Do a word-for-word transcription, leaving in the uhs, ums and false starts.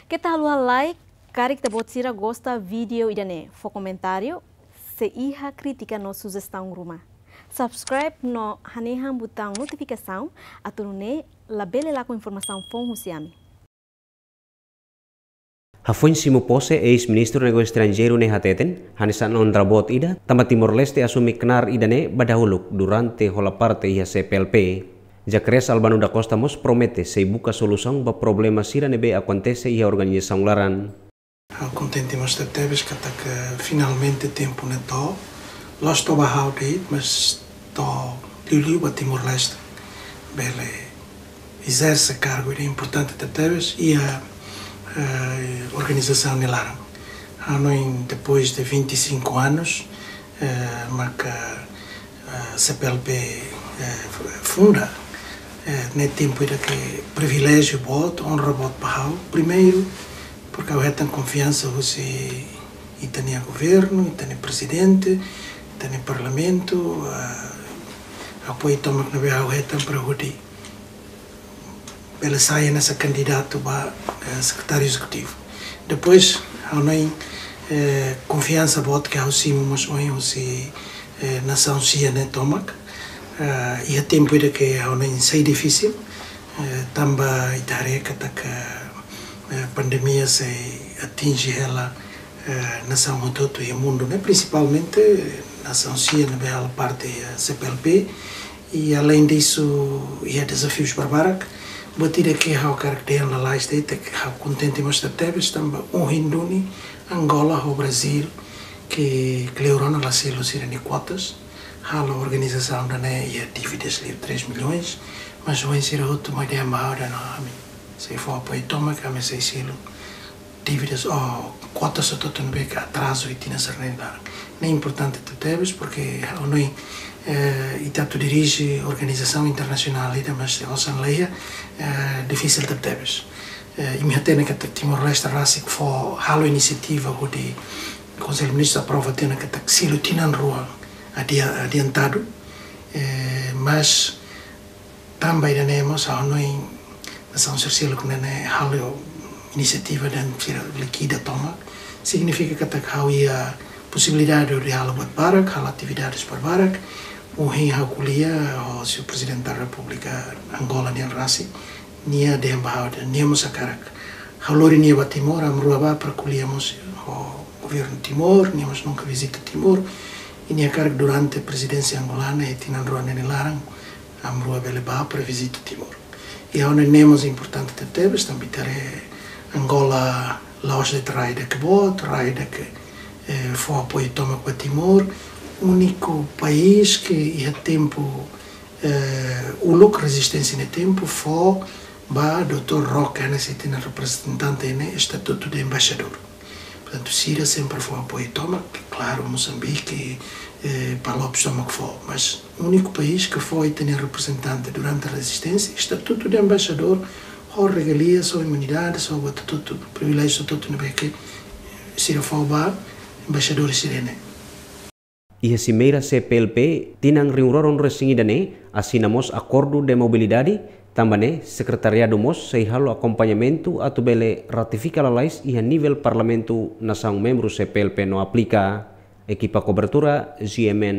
Keta haluha like, karik ita-boot sira gosta vídeo ida-ne'e, fó komentáriu, sei iha krítika no sujestaun ruma. Subscribe no hanehan butaun notifikasaun, atu nune'e labele lakon informasaun foun husi ami. Hafoin simu pose, eis-ministru Negósiu Estranjeiru ne'e hateten, hanesan onra boot ida, tanba Timor-Leste asume knaar ida-ne'e ba dahuluk durante hola parte iha C P L P. Zacarias Albano da Costa mós promete sei buka solusaun ba problema sira ne'ebé akontese iha organizasaun laran. Ha'u kontente mós tebetebes katak finalmente tempu ne'e to'o, la'ós to'o ba ha'u de'it, mas to'o liuliu ba Timor-Leste bele ezerse kargu ida importante tebetebes iha, eh, organizasaun nia laran. Ha'u hanoin depois de vinte e cinco anos, eh, maka, eh, C P L P, eh, funda, eh, ne'e tempu ida ke priviléjiu boot, onra boot ba ha'u. Primeiru, porke ha'u hetan konfiansa husi ita-nia governu, ita-nia prezidente, ita-nia parlamentu, eh, apoiu tomak ne'ebé ha'u hetan para hodi bele sai hanesan kandidatu ba, eh, sekretáriu ezekutivu. Depois, ha'u hanoin, eh, konfiansa boot ke ha'u simu mós ohin husi, eh, nasaun sia ne'e tomak. Eh, iha tempu ida ke ha'u hanoin sei difisil, eh, tanba ita haree katak, eh, pandemia sei atinje hela, eh, nasaun hotu-hotu iha mundu ne'e, prinsipalmente nasaun sia ne'ebé halo parte iha C P L P. I além disso, iha dezafius barbarak. Buat ida ke ha'u hakarak dehan lalais de'it, ha'u kontente mós tebetebes tanba ohin duni Angola ho Brazil, ke kleur ona la selu sira-nia kuotas, halo organizasaun ida-ne'e iha dívidas liu três milhões, mas ohin sira hotu mai dehan ba ha'u dehan ami sei fó apoiu tomak, ami sei selu dívidas ou kuotas hotu-hotu ne'ebé ke atrazu iha tinan sira-ne'e laran. Ne'e importante tebetebes, porke ha'u hanoin, eh, ita atu dirije organizasaun internasionál ida, mas osan laiha, eh, difisil tebetebes. Eh, imi hatene katak Timor-Leste rasik fó halo inisiativa hodi Konsellu Ministru aprova tiha ona katak selu tinan rua adia-, adiantadu. Eh, mas tanba ida-ne'e mós ha'u hanoin nasaun sira seluk ne'e halo inisiativa dehan sira likida tomak. Signifika katak ha'u iha posibilidade de halo buat barak, halo atividades buat barak. Ohin ha'u ko'alia ho Señór Prezidente da Repúblika Angola nian rasik, nia dehan ba ha'u dehan nia mós hakarak ha'u lori nia ba Timor, ami rua ba para ko'alia mós ho governu Timor, nia mós nunka vizita Timor. I nia hakarak durante prezidénsia angolana iha tinan rua ne'e nia laran, ami rua bele ba para vizita Timor. I ha'u hanoin ne'e mós importante tebetebes, tanba ita haree Angola la'ós de'it rai ida ke boot, rai ida ke, eh, fó apoiu tomak ba Timor. Úniku país ke iha tempu, eh, uluk rezisténsia nia tempu fó ba doutór Roque, hanesan ita-nia reprezentante iha ne'e, estatutu de embaixadór. Portantu, sira sempre fó apoiu tomak, klaru, Mosambike, eh, Palopes tomak fó, mas úniku país ke fó ita-nia reprezentante durante rezisténsia, estatutu de embaixadór, ho regalias, ho imunidades, ho buat hotu-hotu, priviléjiu hotu-hotu ne'ebé ke sira fó ba embaixadór sira-ne'e. Iha simeira C P L P, tinan rihun rua ruanulu-resin-ida ne'e, asina mós akordu de mobilidade, tanba ne'e sekretariadu mós sei halo akompañamentu atu bele ratifika lalais iha nivel Parlamentu nasaun membru C P L P no aplika. Ekipa kobertura, G M N.